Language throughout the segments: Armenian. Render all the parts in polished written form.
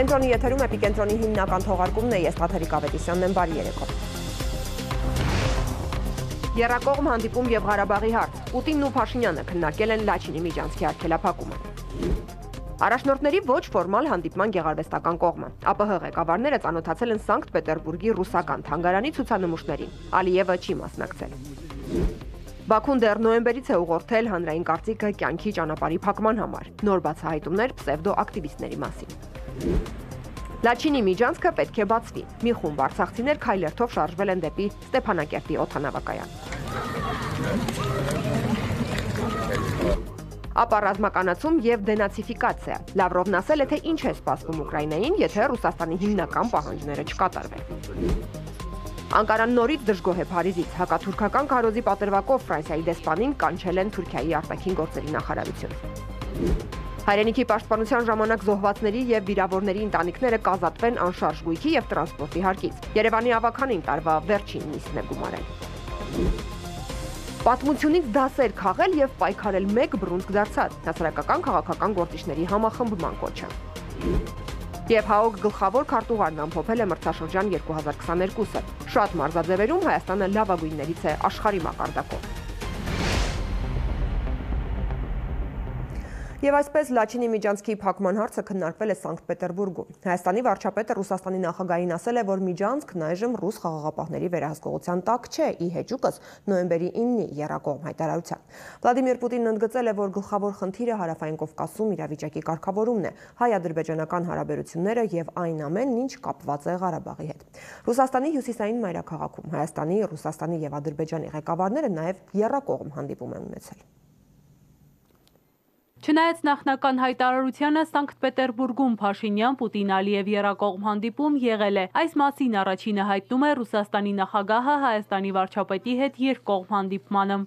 Կենտրոնի եթերում Էպիկենտրոնի հիմնական թողարկումն է, ես Թաթերիկ Ավետիսյանն եմ, բարի երեկո։ Եռակողմ հանդիպում եւ Ղարաբաղի հարց։ Պուտինն ու Փաշինյանը քննարկել են Լաչինի միջանցքի արգելափակումը։ Առաջնորդների ոչ ֆորմալ հանդիպման գեղարվեստական կողմը։ ԱՊՀ ղեկավարները ծանոթացել են Սանկտ Պետերբուրգի ռուսական թանգարանի ցուցանմուշներին։ Ալիևը չի մասնակցել։ Բաքուն դեռ նոյեմբերից է ուղղորդել հանրային կարծիքը կյանքի ճանապարհի փակման համար։ Նոր բացահայտումներ պսևդո-ակտիվիստների մասին։ Լաչինի միջանցքը պետք է բացվի։ Մի խումբ արցախցիներ քայլերթով շարժվել են դեպի Ստեփանակերտի օդանավակայան։ Ապա ռազմականացում եւ դենացիֆիկացիա։ Լավրովն ասել է, թե ինչ է սպասվում Ուկրաինային, եթե Ռուսաստանի հիմնական պահանջները չկատարվեն։ Անկարան նորից դժգոհ է Փարիզից։ Հակաթուրքական քարոզի պատրվակով Ֆրանսիայի դեսպանին կանչել են Թուրքիայի արտաքին գործերի նախարարություն։ Հայրենիքի պաշտպանության ժամանակ զոհվածների եւ վիրավորների ընտանիքները կազատվեն անշարժ գույքի եւ տրանսպորտի հարկից։ Երևանի ավականին տարվա վերջին նիստն է գումարել։ Պատմությունից դասեր քաղել եւ պայքարել մեկ բռունցք դարձած հասարակական քաղաքական գործիչների համախմբման կոչը։ Եվ ՀԱՕԿ գլխավոր քարտուղարն ամփոփել է մրցաշրջան 2022-ը։ Շատ մարզաձևերում Հայաստանը լավագույններից է աշխարհի մակարդակով։ Եվ այսպես Լաչինի միջանցքի փակման հարցը քննարկվել է Սանկտ Պետերբուրգում։ Հայաստանի վարչապետը Ռուսաստանի նախագահին ասել է, որ միջանցքն այժմ ռուս խաղաղապահների վերահսկողության տակ չէ, ի հեճուկս նոյեմբերի 9-ի եռակողմ հայտարարության։ Վլադիմիր Պուտինն ընդգծել է, որ գլխավոր խնդիրը Հարավային Կովկասում իրավիճակի կարգավորումն է, հայ-ադրբեջանական հարաբերությունները եւ այն ամենն, ինչ կապված է Ղարաբաղի հետ։ Ռուսաստանի հյուսիսային մայրաքաղաքում Հայաստանի, Ռուսաստանի եւ Ադրբեջանի ղեկավարները նաեւ եռակողմ հանդիպում են ունեցել։ Չնայած նախնական հայտարարությանը Սանկտ Պետերբուրգում Փաշինյան-Պուտին-Ալիև եռակողմ հանդիպում եղել է։ Այս մասին առաջինը հայտնում է Ռուսաստանի նախագահը Հայաստանի վարչապետի հետ երկկողմ հանդիպմանը։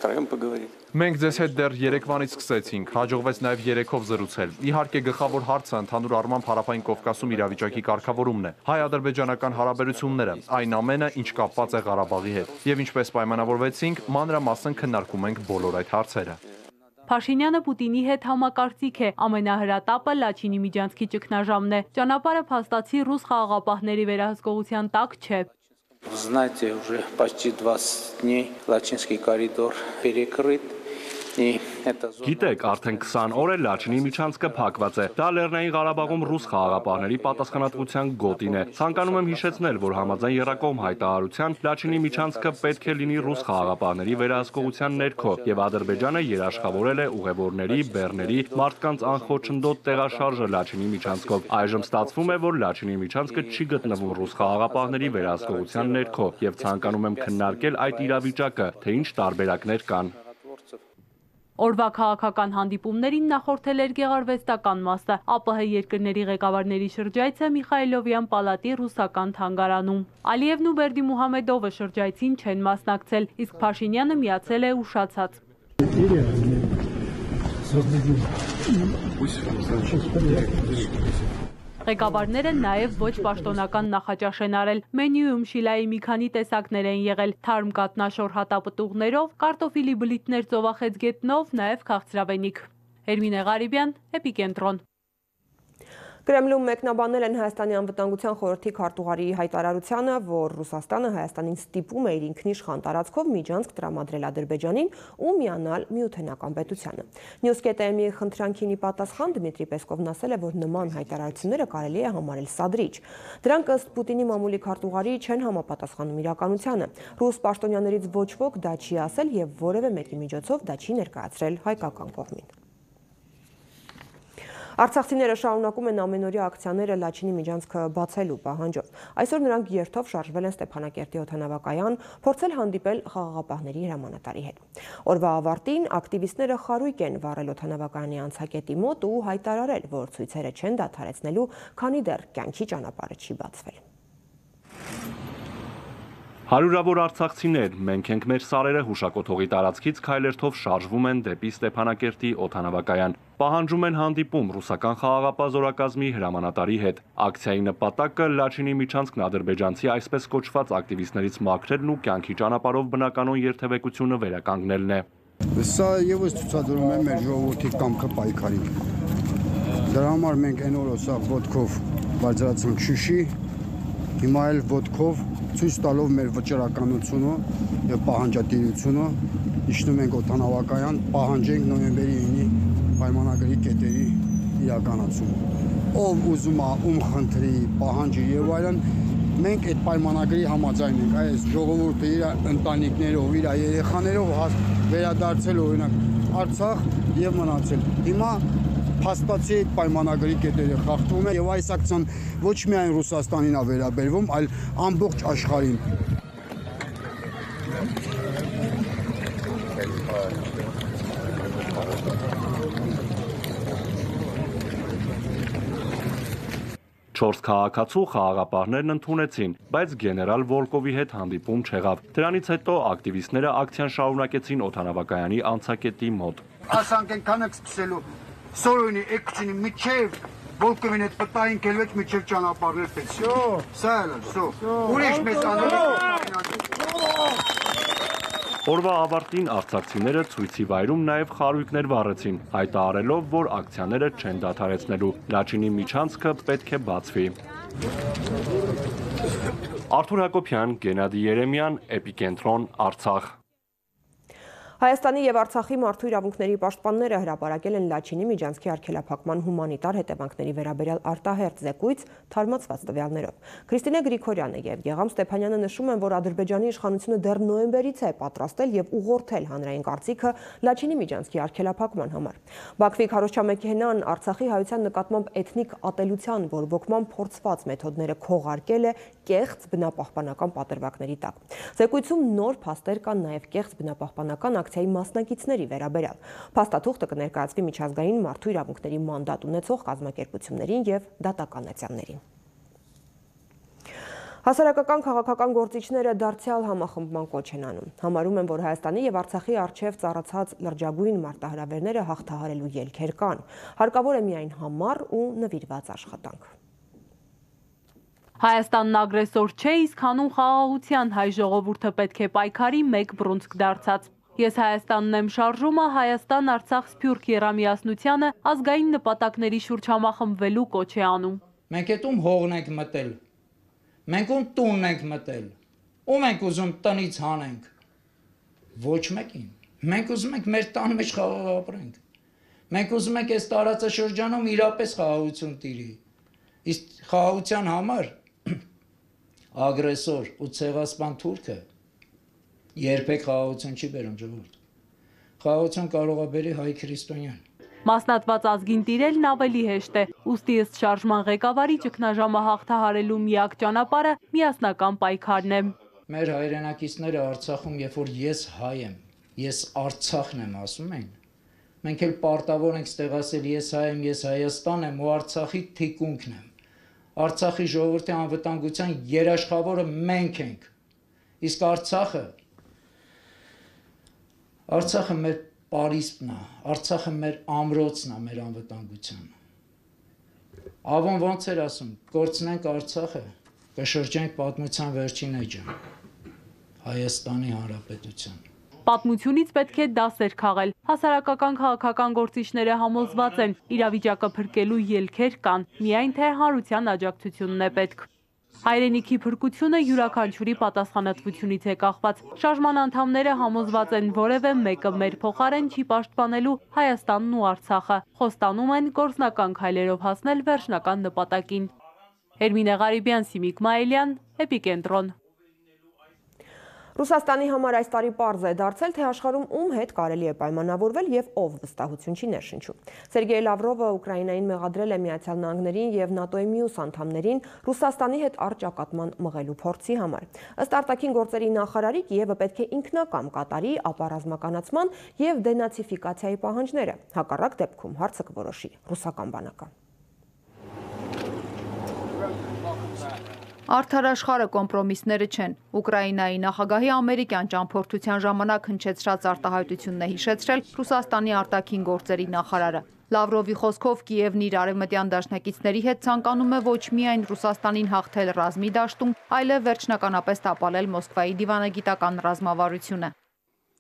Մենք ձեզ հետ դեռ երեկվանից սկսեցինք, հաջողվեց նաև երեքով զրուցել։ Իհարկե գլխավոր հարցը ընդհանուր առմամբ Հարավային Կովկասում իրավիճակի կարգավորումն է, հայ-ադրբեջանական հարաբերությունները, այն ամենը, ինչ կապված է Ղարաբաղի հետ։ Եվ ինչպես պայմանավորվեցինք, մանրամասն քննարկում ենք բոլոր այդ հարցերը։ Փաշինյանը Պուտինի հետ համակարծիք է, ամենահրատապը Լաչինի միջանցքի ճգնաժամն է։ Ճանապարհը փաստացի ռուս խաղաղապահների վերահսկողության տակ չէ։ Знаете, уже почти 20 дней Лачинский коридор перекрыт. Գիտեք, արդեն 20 օր է Լաչինի միջանցքը փակված է։ Դա Լեռնային Ղարաբաղում ռուս խաղաղապահների պատասխանատվության գոտին է։ Ցանկանում եմ հիշեցնել, որ համաձայն եռակողմ հայտարարության Լաչինի միջանցքը պետք է լինի ռուս խաղաղապահների վերահսկողության ներքո, եւ Ադրբեջանը երաշխավորել է ուղևորների, բեռների, մարդկանց անխոչնդոտ տեղաշարժը Լաչինի միջանցքով։ Այժմ ստացվում է, որ Լաչինի միջանցքը չի գտնվում ռուս խաղաղապահների վերահսկողության ներքո, եւ ցանկանում եմ քննարկել այդ իրավիճակը, թե ինչ տարբերակներ կան։ Օրվա քաղաքական հանդիպումներին նախորդել էր գեղարվեստական մասը, ԱՊՀ երկրների ղեկավարների շրջայցը Միխայլովյան պալատի ռուսական թանգարանում։ Ալիևն ու Բերդիմուհամեդովը շրջայցին չեն մասնակցել, իսկ Փաշինյանը միացել է ուշացած։ Ղեկավարները նաև ոչ պաշտոնական նախաճաշ են արել։ Մենյուում շիլայի մի քանի տեսակներ են եղել՝ թարմ կատնաշոր հատապտուղներով, կարտոֆիլի բլիթներ ծովախեց գետնով, նաև քաղցրավենիք։ Էրմինե Ղարիբյան, Էպիկենտրոն։ Կրեմլում մեկնաբանել են Հայաստանի անվտանգության խորհրդի քարտուղարի հայտարարությանը, որ Ռուսաստանը Հայաստանին ստիպում է իր ինքնիշխան տարածքով միջանցք տրամադրել Ադրբեջանին ու միանալ Միութենական պետությանը։ Նյուզկետ.am-ի խնդրանքին ի պատասխան Դմիտրի Պեսկովն ասել է, որ նման հայտարարությունները կարելի է համարել սադրիչ։ Դրանք ըստ Պուտինի մամուլի քարտուղարի չեն համապատասխանում իրականությանը։ Ռուս պաշտոնյաներից ոչ ոք դա չի ասել եւ որևէ մեկի միջոցով դա չի ներկայացրել հայկական կողմին։ Արցախցիները շարունակում են ամենօրյա ակցիաները Լաչինի միջանցքը բացելու պահանջով։ Այսօր նրանք երթով շարժվել են Ստեփանակերտի օդանավակայան, փորձել հանդիպել խաղաղապահների հրամանատարի հետ։ Օրվա ավարտին ակտիվիստները խարույկ են վառել օդանավակայանի անցակետի մոտ ու հայտարարել, որ ցույցերը չեն դադարեցնելու, քանի դեռ կյանքի ճանապարհը չի բացվել։ Հարյուրավոր արցախցիներ, մենք ենք մեր սարերը հուշակոթողի տարածքից քայլերթով շարժվում են դեպի Ստեփանակերտի օդանավակայան։ Պահանջում են հանդիպում ռուսական խաղաղապահ զորակազմի հրամանատարի հետ։ Ակցիայի նպատակը Լաչինի միջանցքն ադրբեջանցի այսպես կոչված ակտիվիստներից մաքրելն ու կյանքի ճանապարհով բնականոն երթևեկությունը վերականգնելն է։ Սա եւս ցուցադրում է մեր ժողովրդի կամքը պայքարի։ Դրա համար մենք այն օրը սա ոտքով բարձրացանք Շուշի, հիմա էլ ոտքով ցույց տալով մեր վճռականությունը եւ պահանջատիրությունը իջնում ենք օդանավակայան, պահանջենք նոյեմբերի 9-ի պայմանագրի կետերի իրականացումը։ Ով ուզում է, ում խնդրի, պահանջի եւ այլն, մենք այդ պայմանագրի համաձայն ենք, այս ժողովուրդը իր ընտանիքներով, իր երեխաներով վերադարձել օրինակ Արցախ եւ մնացել։ Հիմա փաստացի այդ պայմանագրի կետերը խախտվում է եւ այս ակցիան ոչ միայն Ռուսաստանին է վերաբերվում, այլ ամբողջ աշխարհին։ Չորս քաղաքացու խաղաղապահներն ընդունեցին, բայց գեներալ Վոլկովի հետ հանդիպում չեղավ։ Դրանից հետո ակտիվիստները ակցիան շարունակեցին օդանավակայանի անցակետի մոտ։ Ասանք այնքան եք սկսելու Սորոյնի էկչինի միջև Վոլկովին հետ պտային կելվեց միջև ճանապարհներ պես։ Սա էլ է, ուրիշ մեծ Օրվա ավարտին արցախցիները ցույցի վայրում նաև խարույկներ վառեցին, հայտարարելով, որ ակցիաները չեն դադարեցնելու։ Լաչինի միջանցքը պետք է բացվի։ Արթուր Հակոբյան, Գենադի Երեմյան, Էպիկենտրոն, Արցախ։ Հայաստանի եւ Արցախի մարդու իրավունքների պաշտպանները հրապարակել են Լաչինի միջանցքի արգելափակման հումանիտար հետևանքների վերաբերյալ արտահերթ զեկույց թարմացված տվյալներով։ Քրիստինե Գրիգորյանը եւ Գեգամ Ստեփանյանը նշում են, որ Ադրբեջանի իշխանությունը դեռ նոյեմբերից է պատրաստել եւ ուղղորդել հանրային կարծիքը Լաչինի միջանցքի արգելափակման համար։ Բաքվի քարոզչամեքենան Արցախի հայության նկատմամբ էթնիկ ատելության բորբոքման փորձված մեթոդները քողարկել է կեղծ բնապահպանական պատրվակների տակ։ Զեկույցում նոր փաստեր կան նաեւ կեղծ բնապահպանական ակցիայի մասնակիցների վերաբերյալ։ Փաստաթուղթը կներկայացվի միջազգային մարդու իրավունքների մանդատ ունեցող կազմակերպություններին եւ դատականացյաններին։ Հասարակական քաղաքական գործիչները դարձյալ համախմբման կոչ են անում։ Համարում են, որ Հայաստանի եւ Արցախի առջև ծառացած լրջագույն մարտահրավերները հաղթահարելու ելքեր կան։ Հարկավոր է միայն համառ ու նվիրված աշխատանք։ Հայաստանն ագրեսոր չէ, իսկ հանուն խաղաղության հայ ժողովուրդը պետք է պայքարի մեկ բռունցք դարձած։ Ես Հայաստանն եմ շարժումը Հայաստան-Արցախ սփյուռք եռամիասնությանը ազգային նպատակների շուրջ համախմբվելու կոչ է անում։ Մենք էտում հողն ենք մտել, մենք ում տունն ենք մտել, ում ենք ուզում տնից հանենք, ոչ մեկին, մենք ուզում ենք մեր տան մեջ խաղաղ ապրենք, մենք ուզում ենք այս տարածաշրջանում իրապես խաղաղություն տիրի, իսկ խաղաղության համար ագրեսոր ու ցեղասպան թուրքը երբեք խաղաղություն չի բերում ժողովուրդ։ Խաղաղություն կարող է բերի հայ քրիստոնյան։ Մասնատված ազգին տիրելն ավելի հեշտ է, ուստի ըստ շարժման ղեկավարի ճգնաժամը հաղթահարելու միակ ճանապարհը միասնական պայքարն է։ Մեր հայրենակիցները Արցախում, երբ որ ես հայ եմ, ես Արցախն եմ ասում են, մենք էլ պարտավոր ենք ստեղ ասել ես հայ եմ, ես Հայաստան եմ ու Արցախի թիկունքն եմ։ Արցախի ժողովրդի անվտանգության երաշխավորը մենք ենք։ Իսկ Արցախը մեր պարիսպն է, Արցախը մեր ամրոցն է, մեր անվտանգության։ Ավոն ոնց էր ասում, կորցնենք Արցախը, կշրջենք պատմության վերջին էջը, Հայաստանի Հանրապետության։ Պատմությունից պետք է դասեր քաղել։ Հասարակական քաղաքական գործիչները համոզված են, իրավիճակը փրկելու ելքեր կան, միայն թե հանրության աջակցությունն է պետք։ Հայրենիքի փրկությունը յուրաքանչյուրի պատասխանատվությունից է կախված։ Շարժման անդամները համոզված են, որևէ մեկը մեր փոխարեն չի պաշտպանելու Հայաստանն ու Արցախը։ Խոստանում են գործնական քայլերով հասնել վերջնական նպատակին։ Էրմինե Ղարիբյան, Սիմիկ Մայիլյան, Էպիկենտրոն։ Ռուսաստանի համար այս տարի պարզ է դարձել, թե աշխարհում ում հետ կարելի է պայմանավորվել եւ ով վստահություն չի ներշնչում։ Սերգեյ Լավրովը Ուկրաինային մեղադրել է Միացյալ Նահանգներին եւ ՆԱՏՕ-ի մյուս անդամներին Ռուսաստանի հետ առճակատման մղելու փորձի համար։ Ըստ արտաքին գործերի նախարարի Կիևը պետք է ինքնակամ կատարի ապառազմականացման եւ դենացիֆիկացիայի պահանջները։ Հակառակ դեպքում հարցը կորոշի ռուսական բանակը։ Արդարաշխարհը կոմպրոմիսները չեն։ Ուկրաինայի նախագահի ամերիկյան ճամփորդության ժամանակ հնչեցրած արտահայտությունն է հիշեցրել Ռուսաստանի արտաքին գործերի նախարարը։ Լավրովի խոսքով Կիևն իր արևմտյան դաշնակիցների հետ ցանկանում է ոչ միայն Ռուսաստանին հաղթել ռազմի դաշտում, այլև վերջնականապես տապալել Մոսկվայի դիվանագիտական ռազմավարությունը։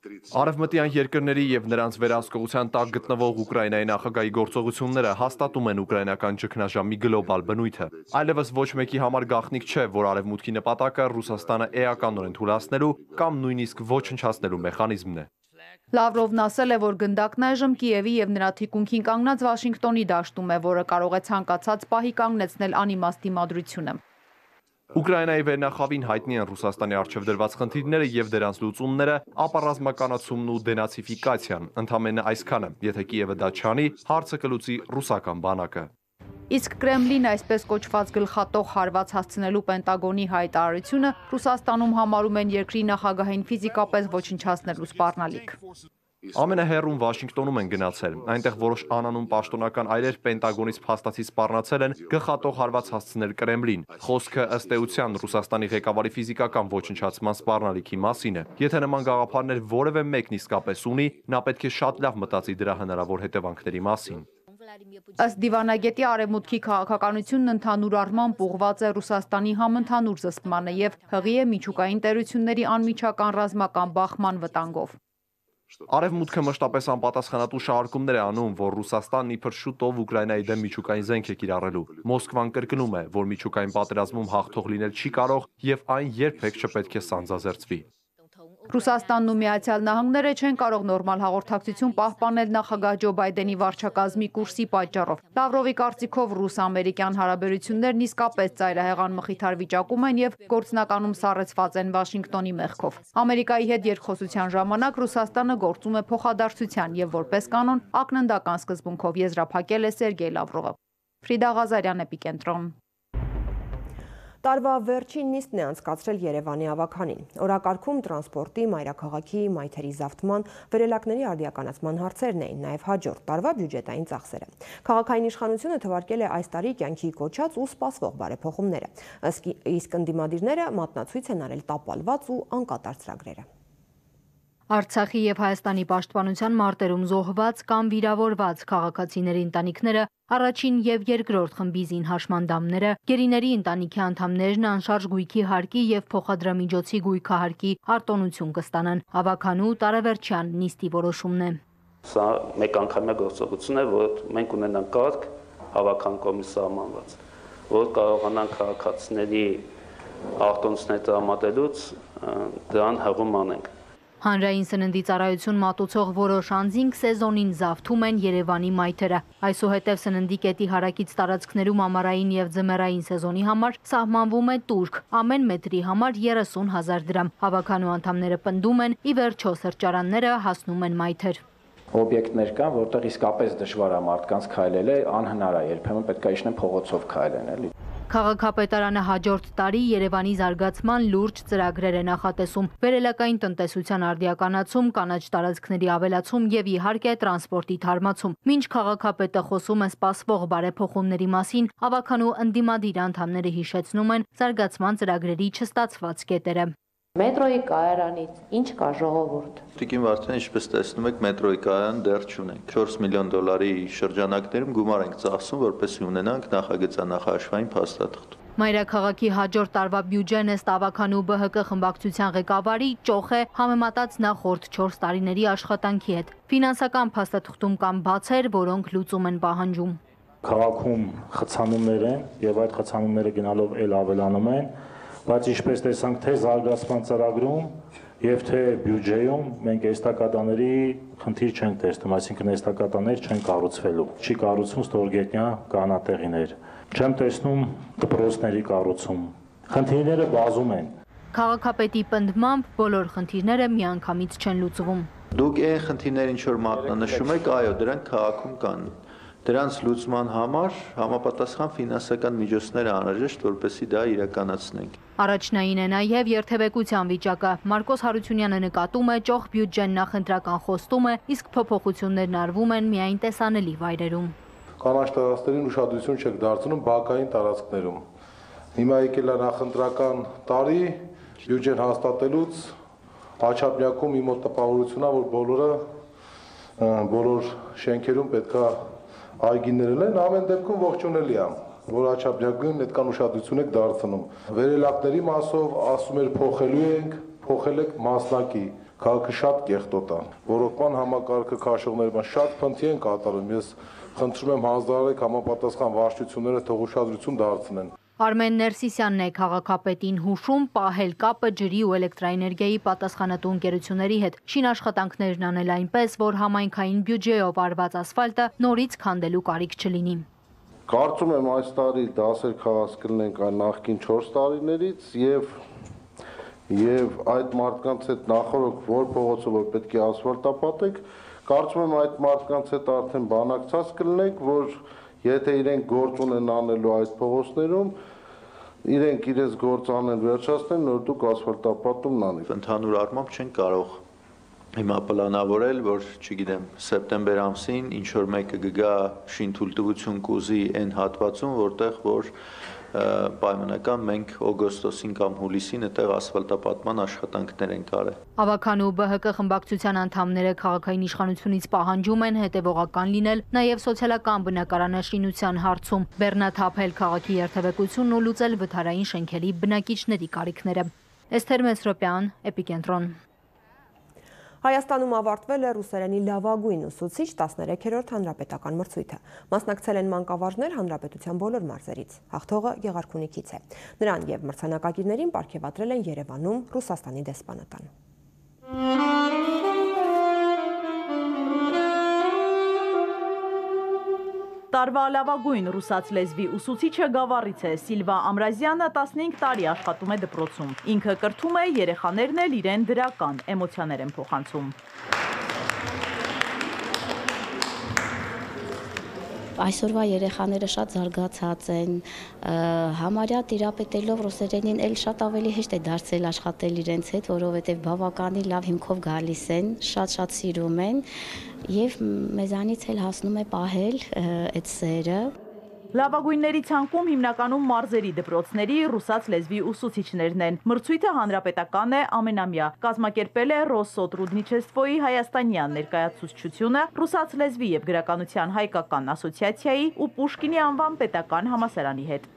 Արևմտյան երկրների եւ նրանց վերահսկողության տակ գտնվող Ուկրաինայի նախագահի գործողությունները հաստատում են ուկրաինական ճգնաժամի գլոբալ բնույթը։ Այլևս ոչ մեկի համար գաղտնիք չէ, որ արևմուտքի նպատակը Ռուսաստանը էականորեն թուլացնելու կամ նույնիսկ ոչնչացնելու մեխանիզմն է։ Լավրովն ասել է, որ գնդակն այժմ Կիևի եւ նրա թիկունքին կանգնած Վաշինգտոնի դաշտում է, որը կարող է ցանկացած պահի կանգնեցնել անիմաստ դիմադրությունը։ Ուկրաինայի վերնախավին հայտնի են Ռուսաստանի առջև դրված խնդիրները եւ դրանց լուծումները, ապա ռազմականացումն ու դենացիֆիկացիան, ընդամենը այսքանը, եթե Կիևը դա չանի, հարցը կլուծի ռուսական բանակը։ Իսկ Կրեմլին այսպես կոչված գլխատող հարված հասցնելու Պենտագոնի հայտարարությունը Ռուսաստանում համարում են երկրի նախագահին ֆիզիկապես ոչնչացնելու սպառնալիք։ Ամենահեռուն Վաշինգտոնում են գնացել, այնտեղ որոշ անանուն պաշտոնական այրեր Պենտագոնից փաստացի սպառնացել են գլխատող հարված հասցնել Կրեմլին։ Խոսքը ըստ էության Ռուսաստանի ղեկավարի ֆիզիկական ոչնչացման սպառնալիքի մասին է։ Եթե նման գաղափարներ որևէ մեկն իսկապես ունի, նա պետք է շատ լավ մտածի դրա հնարավոր հետևանքների մասին։ Ըստ դիվանագետի արևմուտքի քաղաքականությունն ընդհանուր առմամբ ուղղված է Ռուսաստանի համընդհանուր զսպմանը եւ հղի է միջուկային տերությունների անմիջական ռազմական բախման վտանգով։ Արևմուտքը մշտապես անպատասխանատու շահարկումներ է անում, որ Ռուսաստանն իբր շուտով Ուկրաինայի դեմ միջուկային զենք է կիրառելու։ Մոսկվան կրկնում է, որ միջուկային պատերազմում հաղթող լինել չի կարող եւ այն երբեք չպետք է սանձազերծվի։ Ռուսաստանն ու Միացյալ Նահանգները չեն կարող նորմալ հաղորդակցություն պահպանել նախագահ Ջո Բայդենի վարչակազմի կուրսի պատճառով։ Լավրովի կարծիքով ռուս-ամերիկյան հարաբերություններն իսկապես ծայրահեղան մխիթար վիճակում են եւ գործնականում սառեցված են Վաշինգտոնի մեղքով։ Ամերիկայի հետ երկխոսության ժամանակ Ռուսաստանը գործում է փոխադարձության եւ որպես կանոն ակննդական սկզբունքով եզրափակել է Սերգեյ Լավրովը։ Ֆրիդա Ղազարյան, Էպիկենտրոն։ Տարվա վերջին նիստն է անցկացրել Երևանի ավագանին։ Օրակարգում տրանսպորտի, մայրաքաղաքի, մայթերի զավթման, վերելակների արդիականացման հարցերն էին, նաև հաջորդ տարվա բյուջետային ծախսերը։ Քաղաքային իշխանությունը թվարկել է այս տարի կյանքի կոչած ու սպասվող բարեփոխումները, իսկ ընդդիմադիրները մատնացույց են արել տապալված ու անկատար ծրագրերը։ Արցախի եւ Հայաստանի պաշտպանության մարտերում զոհված կամ վիրավորված քաղաքացիների ընտանիքները, առաջին եւ երկրորդ խմբի զինհաշմանդամները, գերիների ընտանիքի անդամներն անշարժ գույքի հարկի եւ փոխադրամիջոցի գույքահարկի արտոնություն կստանան։ Ավագանու տարեվերջյան նիստի որոշումն է։ Սա մեկ անգամյա գործողություն է, որ մենք ունենանք կարգ հավաքան կողմից սահմանված, որ կարողանանք քաղաքացիների արտոնությունները տրամադրելուց դրան հղում անենք։ Հանրային սննդի ծառայություն մատուցող որոշ անձինք սեզոնին զավթում են Երևանի մայթերը։ Այսուհետև սննդի կետի հարակից տարածքներում ամառային եւ ձմեռային սեզոնի համար սահմանվում է տուրք, ամեն մետրի համար 30,000 դրամ։ Հավաքանու անդամները պնդում են, ի վերջո սրճարանները հասնում են մայթեր։ Օբյեկտներ կան, որտեղ իսկապես դժվար է մարդկանց քայլել, անհնար է, երբեմն պետք է իջնեն փողոցով քայլեն, էլի։ Քաղաքապետարանը հաջորդ տարի Երևանի զարգացման լուրջ ծրագրեր է նախատեսում, վերելակային տնտեսության արդիականացում, կանաչ տարածքների ավելացում եւ իհարկե տրանսպորտի թարմացում։ Մինչ քաղաքապետը խոսում է սպասվող բարեփոխումների մասին, ավագանու ընդդիմադիր անդամները հիշեցնում են զարգացման ծրագրերի չստացված կետերը։ Մետրոյի կայարանից ինչ կա ժողովուրդ։ Տիկին Վարդան, ինչպես տեսնում եք, մետրոյի կայարան դեռ չունենք։ 4 միլիոն դոլարի շրջանակներում գումար ենք ծախսում, որպեսզի ունենանք նախագծանախաշվային փաստաթղթ։ Մայրաքաղաքի հաջորդ տարվա բյուջեն ըստ ավագանու ԲՀԿ խմբակցության ղեկավարի ճոխ է համեմատած նախորդ 4 տարիների աշխատանքի հետ։ Ֆինանսական փաստաթղթում կան բացեր, որոնք լուծում են պահանջում։ Քաղաքում խցանումներ են եւ այդ խցանումները գնալով ել ավելանում են, բայց ինչպես տեսանք թե զարգացման ծրագրում եւ թե բյուջեում մենք էստակադաների խնդիր չենք տեսնում, այսինքն էստակադաներ չեն կառուցվելու։ Չի կառուցվում ստորգետնյա կանատեղիներ։ Չեմ տեսնում դպրոցների կառուցում։ Խնդիրները բազում են։ Քաղաքապետի պնդմամբ բոլոր խնդիրները միանգամից չեն լուծվում։ Դուք այն խնդիրները ինչ որ մատնանշում եք, այո, դրանք քաղաքում կան։ Դրանց լուծման համար համապատասխան ֆինանսական միջոցներ անհրաժեշտ, որպեսզի դա իրականացնենք։ Առաջնային է նաև երթևեկության վիճակը։ Մարկոս Հարությունյանը նկատում է ճոխ բյուջեն նախընտրական խոստում է, իսկ փոփոխություններն արվում են միայն տեսանելի վայրերում։ Կանաչ տարածքներին ուշադրություն չեք դարձնում բակային տարածքներում։ Հիմա եկել է նախընտրական տարի, բյուջեն հաստատելուց Աչափնյակում իմ մոտ տպավորությունն է, որ բոլոր շենքերում պետքա այգիներն են, ամեն դեպքում ողջունելի է, որ Աչափնյակում այդքան ուշադրություն եք դարձնում։ Վերելակների մասով ասում էր փոխել եք մասնակի, Քաղաքը շատ կեղտոտ է։ Ռոռոկման համակարգը քաշողներն շատ փնթի են կատարում։ Ես խնդրում եմ հանձնարարեք համապատասխան վարչությունները թող ուշադրություն դարձնեն։ Արմեն Ներսիսյանն է քաղաքապետին հուշում պահել կապը ջրի ու էլեկտրաէներգիայի պատասխանատու ընկերությունների հետ, շինաշխատանքներն անել այնպես, որ համայնքային բյուջեով արված ասֆալտը նորից քանդելու կարիք չլինի։ Կարծում եմ այս տարի դասեր քաղաք կլինենք այն նախկին 4 տարիներից եւ այդ մարդկանց հետ նախորդ որ փողոցով որ պետք է ասֆալտապատեք, կարծում եմ այդ մարդկանց հետ արդեն բանակցած կլինենք, որ եթե իրենք գործ ունեն անելու այդ փողոցներում, իրենք իրենց գործ անեն վերջացնեն, նոր դուք ասֆալտապատումն անեք։ Ընդհանուր առմամբ չեն կարող հիմա պլանավորել, որ, չգիտեմ, սեպտեմբեր ամսին ինչ որ մեկը կգա շինթույլտվություն կուզի այն հատվածում, որտեղ որ պայմանական մենք օգոստոսին կամ հուլիսին այդտեղ ասֆալտապատման աշխատանքներ են կարել։ Ավագան ու ԲՀԿ խմբակցության անդամները քաղաքային իշխանությունից պահանջում են հետևողական լինել նաև սոցիալական բնակարանաշինության հարցում, բեռնաթափել քաղաքի երթևեկությունն ու լուծել վթարային շենքերի բնակիչների կարիքները։ Էսթեր Մեսրոպյան, Էպիկենտրոն։ Հայաստանում ավարտվել է ռուսերենի լավագույն ուսուցիչ 13-րդ հանրապետական մրցույթը։ Մասնակցել են մանկավարժներ հանրապետության բոլոր մարզերից։ Հաղթողը Գեղարքունիքից է։ Նրան եւ մրցանակակիրներին պարգևատրել են Երևանում Ռուսաստանի դեսպանատան։ Տարվա լավագույն ռուսաց լեզվի ուսուցիչը Գավառից է։ Սիլվա Ամրազյանը 15 տարի աշխատում է դպրոցում։ Ինքը կրթում է, երեխաներն էլ իրեն դրական էմոցիաներ են փոխանցում։ Այսօրվա երեխաները շատ զարգացած են, համարյա տիրապետելով ռուսերենին էլ շատ ավելի հեշտ է դարձել աշխատել իրենց հետ, որովհետև բավականին լավ հիմքով գալիս են, շատ սիրում են եւ մեզանից էլ հասնում է պահել այդ սերը։ Լավագույնների ցանկում հիմնականում մարզերի դպրոցների ռուսաց լեզվի ուսուցիչներն են։ Մրցույթը հանրապետական է, ամենամյա։ Կազմակերպել է Ռոսսոտրուդնիչեստվոյի հայաստանյան ներկայացուցչությունը, ռուսաց լեզվի եւ գրականության հայկական ասոցիացիայի ու Պուշկինի անվան պետական համալսարանի հետ։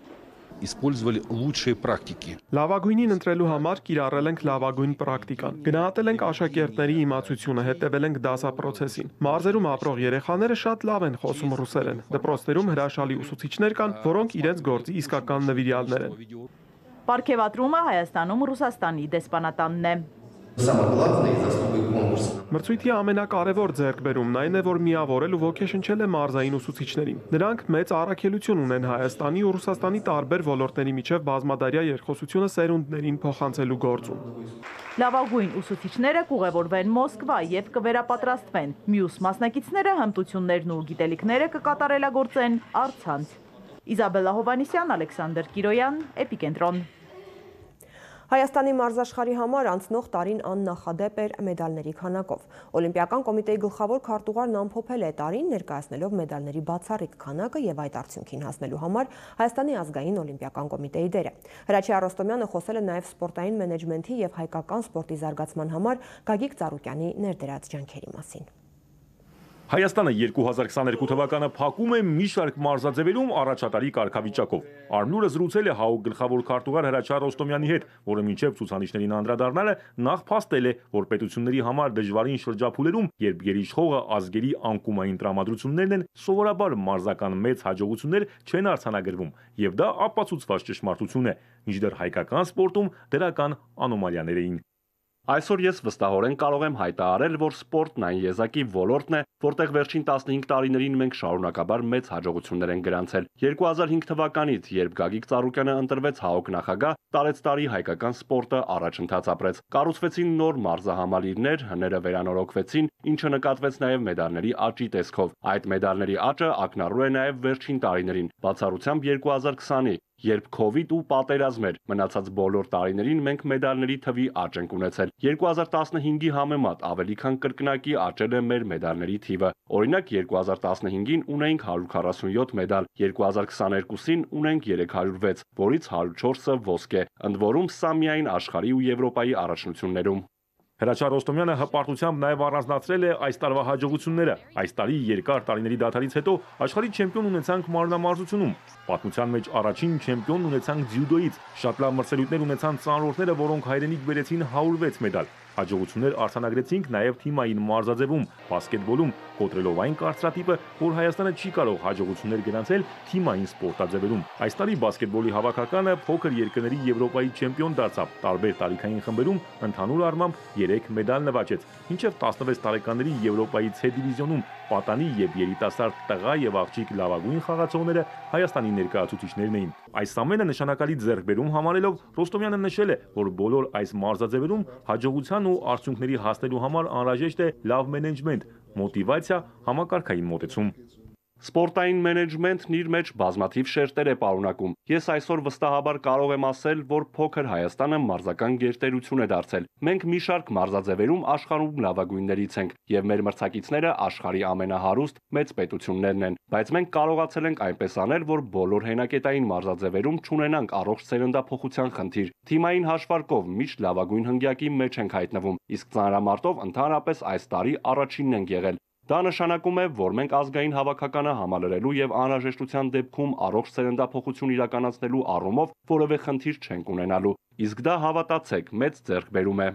Использовали лучшие практики. Լավագույնին ընտրելու համար կիրառել ենք լավագույն պրակտիկան։ Գնահատել ենք աշակերտների իմացությունը, հետևել ենք դասապրոցեսին։ Մարզերում ապրող երեխաները շատ լավ են խոսում ռուսերեն։ Դպրոցներում հրաշալի ուսուցիչներ կան, որոնք իրենց գործի իսկական նվիրյալներ են։ Պարգևատրումը Հայաստանում Ռուսաստանի դեսպանատանն է։ Մրցույթի ամենակարևոր ձեռքբերումն այն է, որ միավորել ու ոգեշնչել է մարզային ուսուցիչներին։ Նրանք մեծ առաքելություն ունեն Հայաստանի ու Ռուսաստանի տարբեր ոլորտների միջև բազմադարյա երկխոսությունը սերունդներին փոխանցելու գործում։ Լավագույն ուսուցիչները կուղևորվեն Մոսկվա եւ կվերապատրաստվեն։ Մյուս մասնակիցները հմտություններն ու գիտելիքները կկատարելագործեն առցանց։ Իզաբելլա Հովանիսյան, Ալեքսանդր Կիրոյան, Էպիկենտրոն։ Հայաստանի մարզաշխարհի համար անցնող տարին աննախադեպ էր մեդալների քանակով։ Օլիմպիական կոմիտեի գլխավոր քարտուղարն ամփոփել է տարին, ներկայացնելով մեդալների բացառիկ քանակը եւ այդ արդյունքին հասնելու համար Հայաստանի ազգային օլիմպիական կոմիտեի դերը։ Հրաչյա Ռոստոմյանը խոսել է նաեւ սպորտային մենեջմենթի եւ հայկական սպորտի զարգացման համար Գագիկ Ծառուկյանի ներդրած ջանքերի մասին։ Հայաստանը 2022 թվականը փակում է մի շարք մարզաձևերում առաջատարի կարգավիճակով։ Արմնուրը զրուցել է ՀԱՕԿ գլխավոր քարտուղար Հրաչյա Ռոստոմյանի հետ, որը մինչև ցուցանիշներին անդրադառնալը նախ փաստել է, որ պետությունների համար դժվարին շրջափուլերում, երբ գերիշխողը ազգերի անկումային տրամադրություններն են, սովորաբար մարզական մեծ հաջողություններ չեն արձանագրվում, եւ դա ապացուցված ճշմարտություն է, մինչդեռ հայկական սպորտում դրական անոմալիաներ էին։ Այսօր ես վստահորեն կարող եմ հայտարարել, որ սպորտն այն եզակի ոլորտն է, որտեղ վերջին 15 տարիներին մենք շարունակաբար մեծ հաջողություններ ենք գրանցել։ 2005 թվականից, երբ Գագիկ Ծառուկյանը ընտրվեց ՀԱՕԿ նախագահ, տարեցտարի հայկական սպորտը առաջընթաց ապրեց։ Կառուցվեցին նոր մարզահամալիրներ, հները վերանորոգվեցին, ինչը նկատվեց նաև մեդալների աճի տեսքով։ Այդ մեդալների աճը ակնառու է նաև վերջին տարիներին, բացառությամբ 2020-ի, երբ COVID ու պատերազմ էր, մնացած բոլոր տարիներին մենք մեդալների թվի աճ ենք ունեցել։ 2015-ի համեմատ ավելի քան կրկնակի աճել է մեր մեդալների թիվը։ Օրինակ 2015-ին ունեինք 147 մեդալ, 2022-ին ունենք 306, որից 104-ը ոսկե, ընդ որում սա միայն աշխարհի ու Եվրոպայի առաջնություններում։ Հրաչյա Ռոստոմյանը հպարտությամբ նաև առանձնացրել է այս տարվա հաջողությունները։ Այս տարի երկար տարիների դադարից հետո աշխարհի չեմպիոն ունեցանք մարմնամարզությունում։ Պատմության մեջ առաջին չեմպիոն ունեցանք ձյուդոյից։ Շատ լավ մրցելույթներ ունեցան ծանրորդները, որոնք հայրենիք բերեցին 106 մեդալ։ Հաջողություններ արձանագրեցինք նաև թիմային մարզաձևում, բասկետբոլում, կոտրելով այն կարծրատիպը, որ Հայաստանը չի կարող հաջողություններ գրանցել թիմային սպորտաձևերում։ Այս տարի բասկետբոլի հավաքականը փոքր երկրների Եվրոպայի չեմպիոն դարձավ, տարբեր տարիքային խմբերում ընդհանուր առմամբ 3 մեդալ նվաճեց, մինչև 16 տարեկանների Եվրոպայի C դիվիզիոնում պատանի եւ երիտասարդ տղա եւ աղջիկ լավագույն խաղացողները Հայաստանի ներկայացուցիչներն էին։ Այս ամենը նշանակալի ձեռքբերում համարելով Ռոստոմյանը նշել է, որ բոլոր այս մարզաձևերում հաջողության ու արդյունքների հասնելու համար անհրաժեշտ է լավ մենեջմենտ, մոտիվացիա, համակարգային մոտեցում։ Սպորտային մենեջմենտն իր մեջ բազմաթիվ շերտեր է պարունակում։ Ես այսօր վստահաբար կարող եմ ասել, որ փոքր Հայաստանը մարզական գերտերություն է դարձել։ Մենք մի շարք մարզաձևերում աշխարհում լավագույններից ենք, եւ մեր մրցակիցները աշխարհի ամենահարուստ մեծ պետություններն են։ Բայց մենք կարողացել ենք այնպես անել, որ բոլոր հենակետային մարզաձևերում չունենանք առողջ սերնդափոխության խնդիր։ Թիմային հաշվարկով միշտ լավագույն հնգյակի մեջ ենք հայտնվում, իսկ ծանրամարտով ընդհանրապես այս տարի առաջինն ենք եղել։ Դա նշանակում է, որ մենք ազգային հավաքականը համալրելու եւ անհրաժեշտության դեպքում առողջ սերնդափոխություն իրականացնելու առումով որևէ խնդիր չենք ունենալու։ Իսկ դա հավատացեք, մեծ ձեռքբերում է։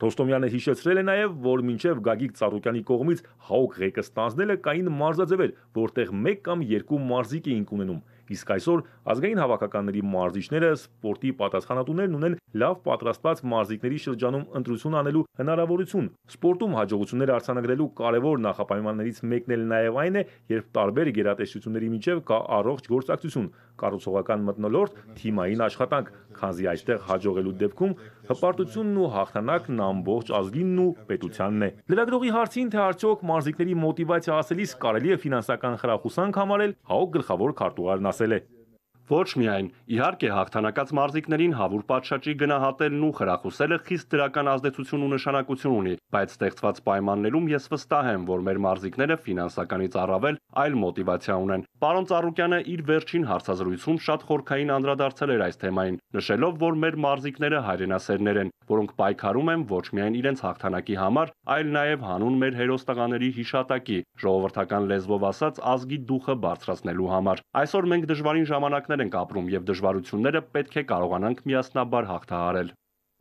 Ռոստոմյանը հիշեցրել է նաև, որ մինչև Գագիկ Ծառուկյանի կողմից ՀԱՕԿ ղեկը ստանձնելը կային մարզաձևեր, որտեղ 1 կամ 2 մարզիկ էինք ունենում։ Իսկ այսօր ազգային հավաքականների մարզիչները սպորտի պատասխանատուներն ունեն լավ պատրաստված մարզիկների շրջանում ընտրություն անելու հնարավորություն։ Սպորտում հաջողություններ արձանագրելու կարևոր նախապայմաններից մեկն էլ նաև այն է, երբ տարբեր գերատեսչությունների միջև կա առողջ գործակցություն, կառուցողական մթնոլորտ, թիմային աշխատանք, քանզի այստեղ հաջողելու դեպքում հպարտությունն ու հաղթանակն ամբողջ ազգինն ու պետությանն է։ Լրագրողի հարցին, թե արդյոք մարզիկների մոտիվացիա ասելիս կարելի է ֆինանսական խրախուսանք համարել, ՀԱՕԿ գլխավոր քարտուղարն ասել է. Ոչ միայն, իհարկե հաղթանակած մարզիկներին հավուր պատշաճի գնահատելն ու խրախուսելը խիստ դրական ազդեցություն ու նշանակություն ունի, բայց ստեղծված պայմաններում ես վստահ եմ, որ մեր մարզիկները ֆինանսականից առավել այլ մոտիվացիա ունեն։ Պարոն Ծառուկյանը իր վերջին հարցազրույցում շատ խորքային անդրադարձել էր այս թեմային, նշելով, որ մեր մարզիկները հայրենասերներ են, որոնք պայքարում են ոչ միայն իրենց հաղթանակի համար, այլ նաև հանուն մեր հերոս տղաների հիշատակի, ժողովրդական լեզվով ասած ազգի դուխը բարձրացնելու համար։ Այսօր մենք դժվարին ժամանակներ ենք ապրում եւ դժվարությունները պետք է կարողանանք միասնաբար հաղթահարել։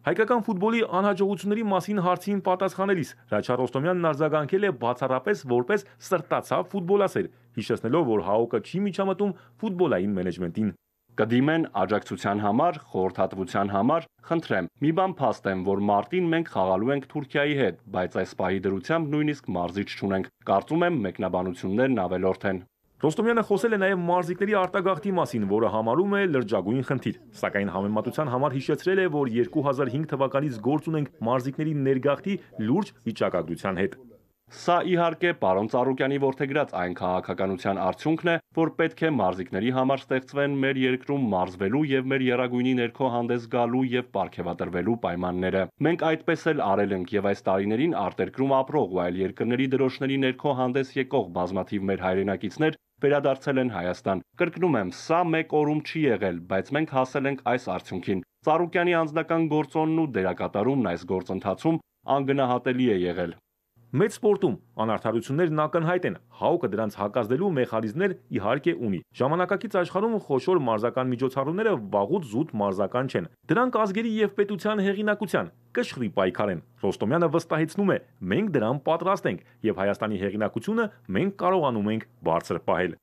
Հայկական ֆուտբոլի անհաջողությունների մասին հարցին պատասխանելիս Հրաչյա Ռոստոմյանն արձագանքել է բացառապես որպես սրտացավ ֆուտբոլասեր, հիշեցնելով, որ ՀԱՕԿ-ը չի միջամտում ֆուտբոլային մենեջմենտին։ Կդիմեն աջակցության համար, խորհրդատվության համար, խնդրեմ, մի բան փաստեմ, որ մարտին մենք խաղալու ենք Թուրքիայի հետ, բայց այս պահի դրությամբ նույնիսկ մարզիչ չունենք։ Կարծում եմ մեկնաբանություններն ավելորդ են։ Ռոստոմյանը խոսել է նաև մարզիկների արտագաղթի մասին, որը համարում է լրջագույն խնդիր, սակայն համեմատության համար հիշեցրել է, որ 2005 թվականից գործ ունենք մարզիկների ներգաղթի լուրջ վիճակագրության հետ։ Սա իհարկե պարոն Ծառուկյանի որդեգրած այն քաղաքականության արդյունքն է, որ պետք է մարզիկների համար ստեղծվեն մեր երկրում մարզվելու եւ մեր եռագույնի ներքո հանդես գալու եւ պարգևատրվելու պայմանները։ Մենք այդպես էլ արել ենք եւ այս տարիներին արտերկրում ապրող ու այլ երկրների դրոշների ներքո հանդես եկող բազմաթիվ մեր հայրենակիցներ վերադարձել են Հայաստան։ Կրկնում եմ, սա մեկ օրում չի եղել, բայց մենք հասել ենք այս արդյունքին։ Ծառուկյանի անձնական գործոնն ու դերակատարումն այս գործընթացում անգնահատելի է եղել։ Մեծ սպորտում անարդարություններն ակնհայտ են, ՀԱՕԿ-ը դրանց հակազդելու մեխանիզմներ իհարկե ունի։ Ժամանակակից աշխարհում խոշոր մարզական միջոցառումները վաղուց զուտ մարզական չեն։ Դրանք ազգերի եւ պետության հեղինակության կշռի պայքար են։ Ռոստոմյանը վստահեցնում է, մենք դրան պատրաստ ենք եւ Հայաստանի հեղինակությունը մենք կարողանում ենք բարձր պահել։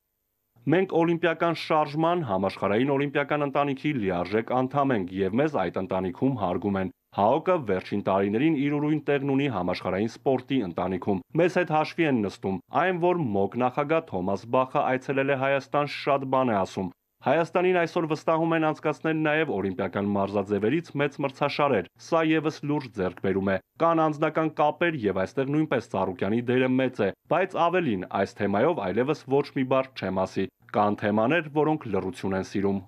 Մենք օլիմպիական շարժման համաշխարհային օլիմպիական ընտանիքի լիարժեք անդամ ենք եւ մեզ այդ ընտանիքում հարգում են։ ՀԱՕԿ-ը վերջին տարիներին իր ուրույն տեղն ունի համաշխարհային սպորտի ընտանիքում։ Մեզ հետ հաշվի են նստում, այն որ ՄՕԿ նախագահ Թոմաս Բախը այցելել է Հայաստան, շատ բան է ասում։ Հայաստանին այսօր վստահում են անցկացնել նաև օլիմպիական մարզաձևերից մեծ մրցաշարեր։ Սա եւս լուրջ ձեռքբերում է։ Կան անձնական կապեր եւ այստեղ նույնպես Ծառուկյանի դերը մեծ է, բայց ավելին, այս թեմայով այլևս ոչ մի բառ չեմ ասի։ Կան թեմաներ, որոնք լռություն են սիրում։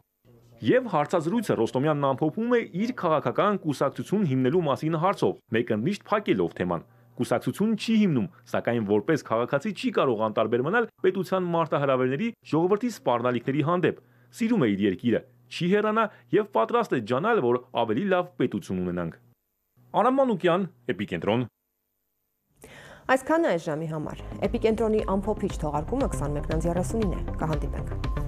Եվ հարցազրույցը Ռոստոմյանն ամփոփում է իր քաղաքական կուսակցություն հիմնելու մասին հարցով, մեկընդմիշտ փակելով թեման։ Կուսակցություն չի հիմնում, սակայն որպես քաղաքացի չի կարող անտարբեր մնալ պետության մարտահրավերների, ժողովրդի սպառնալիքների հանդեպ։ Սիրում է իր երկիրը, չի հեռանա եւ պատրաստ է ջանալ, որ ավելի լավ պետություն ունենանք։ Արամ Մանուկյան, Էպիկենտրոն։ Այսքանը այս ժամի համար։ Էպիկենտրոնի ամփոփիչ թողարկումը 21:39 է։ Կհանդիպենք։